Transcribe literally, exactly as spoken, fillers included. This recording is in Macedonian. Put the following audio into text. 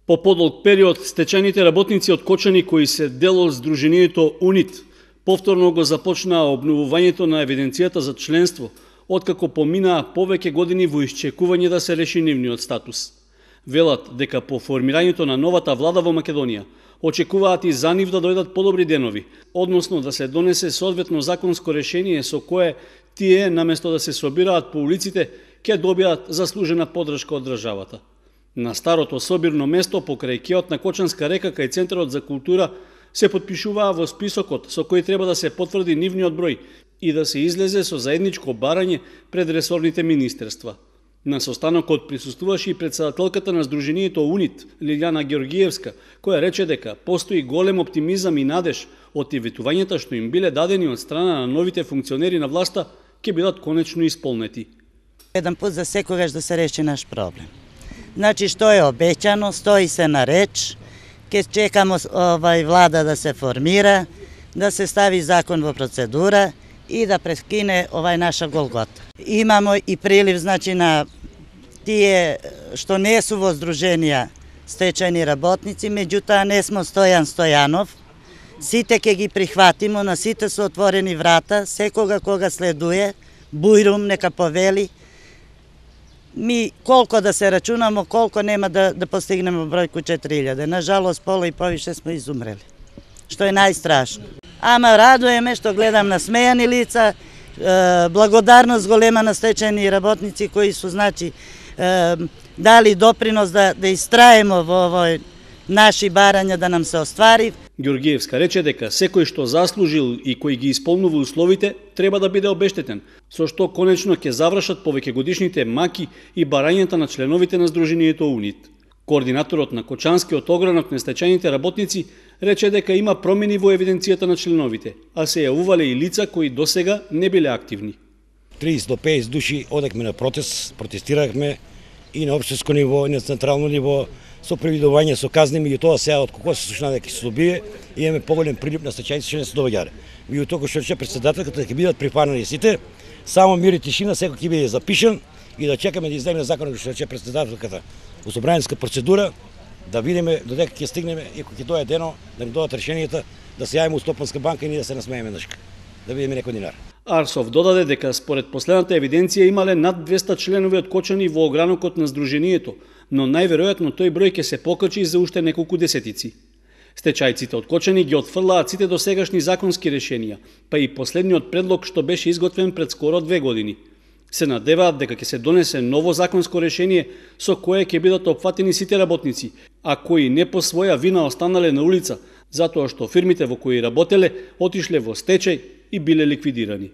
По подолг период, стечајните работници од Кочани кои се дел од Сдруженијето УНИТ повторно го започнаа обновувањето на евиденцијата за членство, откако поминаа повеќе години во исчекување да се реши нивниот статус. Велат дека по формирањето на новата влада во Македонија очекуваат и за нив да дојдат подобри денови, односно да се донесе соодветно законско решение со кое тие, наместо да се собираат по улиците, ќе добијат заслужена поддршка од државата. На старото собирно место покрај кеот на Кочанска река кај Центарот за култура се потпишуваа во списокот со кој треба да се потврди нивниот број и да се излезе со заедничко барање пред ресорните министерства. На состанокот присуствуваше и претседателката на Сдруженијето УНИТ, Лилјана Георгиевска, која рече дека постои голем оптимизам и надеж од иветувањата што им биле дадени од страна на новите функционери на власта ќе бидат конечно исполнети. Еден пат за секогаш да се реши наш проблем. Значи што е обеќано, стои се на реч, ќе чекамо овај влада да се формира, да се стави закон во процедура и да прескине овај наша голгота. Имамо и прилив, значи, на тие што не су во здруженија стечајни работници, меѓутоа не смо Стојан Стојанов. Сите ќе ги прихватимо, на сите се отворени врата, секога кога следуе, бујрум нека повели. Ми колко да се рачунамо, колко нема да, да постигнемо бројку четири илјаде. Нажалост, пола и повише сме изумрели, што е најстрашно. Ама радуеме што гледам на смејани лица, благодарност голема на стечајни работници кои су, значи, дали допринос да, да истраемо во овој наши барања да нам се оствари. Георгиевска рече дека секој што заслужил и кој ги исполнува условите треба да биде обештетен, со што конечно ќе завршат повеќегодишните маки и барањата на членовите на Сдруженијето УНИТ. Координаторот на Кочанскиот огранок на стечајните работници рече дека има промени во евиденцијата на членовите, а се јавувале и лица кои досега не биле активни. триесет до песет души одекме на протест, протестирахме и на општинско ниво, и на централно ниво, со превидување, со казни, меѓутоа сега од кого се слушна дека ќе се добие, имаме поголем прилип на стечајници што не се доаѓале. Меѓутоа што рече претседателката ќе бидат прифанати сите, само мир и тишина, секој ќе биде запишан и да чекаме да излезе законот што рече претседателката во собраниска процедура, да видиме додека ќе стигнеме и кога ќе дојде дено, да ни додат решенијата, да се јавиме у Стопанска банка и ние да се насмееме нашка, да видиме некој динар. Арсов додаде дека според последната евиденција имале над двеста членови од Кочани во огранокот на Сдруженијето, но најверојатно тој број ќе се покачи за уште неколку десетици. Стечајците од Кочани ги отфрлаат сите досегашни законски решенија, па и последниот предлог што беше изготвен пред скоро две години. Се надеваат дека ќе се донесе ново законско решение со кое ќе бидат опфатени сите работници, а кои не по своја вина останале на улица, затоа што фирмите во кои работеле отишле во стечај и биле ликвидирани.